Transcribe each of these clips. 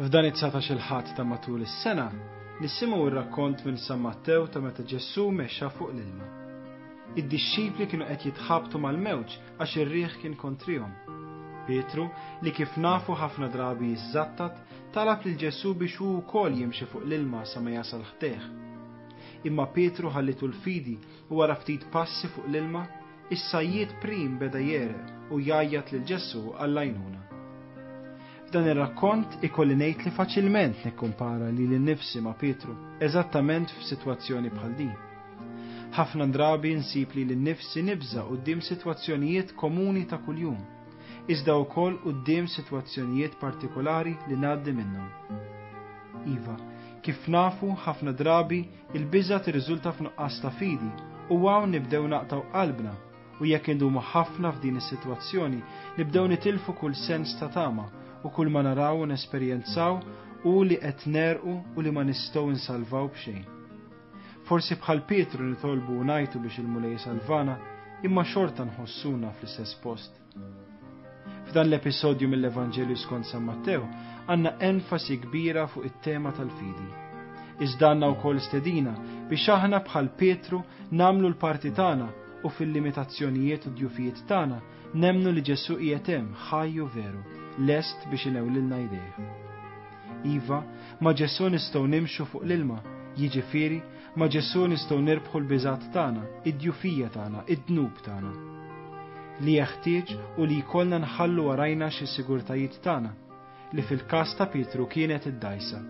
F'dan it-19-il Ħadd ta' matul is-sena, nisimgħu r-rakkont minn San Mattew ta' meta Ġesù mexa fuq l-ilma. Id-dixxipli kienu qed jitħabtu mal-mewġ għax ir-riħ kien kontrihom. Pietru, li kif nafu ħafna drabi jiżżattat, talab lil Ġesù biex hu wkoll jimxi fuq l-ilma sa ma jasal ħdejh. Imma Pietru ħallitu l-fidi u wara ftit passi fuq l-ilma, is-sajjied prim beda jegħreq u jgħajjat lil Ġesù għall-għajnuna. F'dan ir-rakkont ikolli ngħid li faċilment nikkumpara lili nnifsi ma' Pietru, eżattament f'sitwazzjoni bħal din. Ħafna drabi nsib lili nnifsi nibża' quddiem sitwazzjonijiet komuni ta' kuljum, iżda wkoll quddiem sitwazzjonijiet partikolari li ngħaddi minnhom. Iva, kif nafu ħafna drabi il-biża' tirriżulta f'nuqqas ta' fidi u hawn nibdew naqtgħu qalbna U jekk indumu ħafna f'din is-sitwazzjoni, nibdew nitilfu kull sens ta' tama u kull ma naraw u nesperjenzaw hu li qed negħrqu u li ma nistgħu nsalvaw b'xejn. Forsi bħal Pietru nitolbu u ngħajtu biex il-Mulej isalvana, imma xorta nħossuna fl-istess post. F'dan l-episodju mill-Evanġelju skont San Mattew għandna enfasi kbira fuq it-tema tal-fidi. Iżda għandna wkoll stedina biex aħna bħal Pietru nagħmlu l-parti tagħna u fil-limitazzjonijiet u djufijiet tagħna nemmnu li Ġesù qiegħed hemm ħaj u veru, lest biex inewlilna jdejh. Iva, ma' Ġesù nistgħu nimxu fuq l-ilma, jiġifieri, ma' Ġesù nistgħu nirbħu l-biżgħat tagħna, id-djufija tagħna, id-dnub tagħna. Li jeħtieġ hu li jkollna nħallu warajna xi sigurtajiet tagħna, li fil-każ ta' Pietru kienet id-dgħajsa.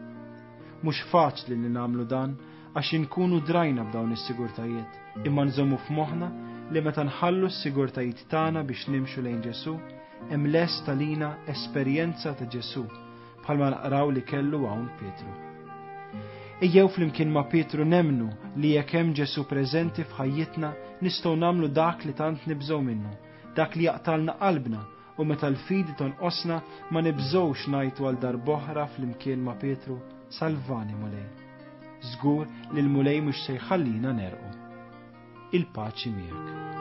Mhux faċli li nagħmlu dan għax inkunu drajna b'dawn is-sigurtajiet, imma nżommu f'moħħna li meta nħallu s-sigurtajiet tagħna biex nimxu lejn Ġesù, hemm lest għalina esperjenza ta' Ġesù bħalma naqraw li kellu hawn Pietru. Ejjew flimkien ma' Pietru nemmnu li jekk hemm Ġesù preżenti f'ħajjitna nistgħu nagħmlu dak li tant nibżgħu minnu, dak li jaqtalna qalbna u meta l-fidi tonqosna ma nibżgħux ngħajtu għal darb'oħra flimkien ma' Pietru, Salvani Mulej. Żgur li l-Mulej mhux se jħallina negħrqu. Il-paċi miegħek.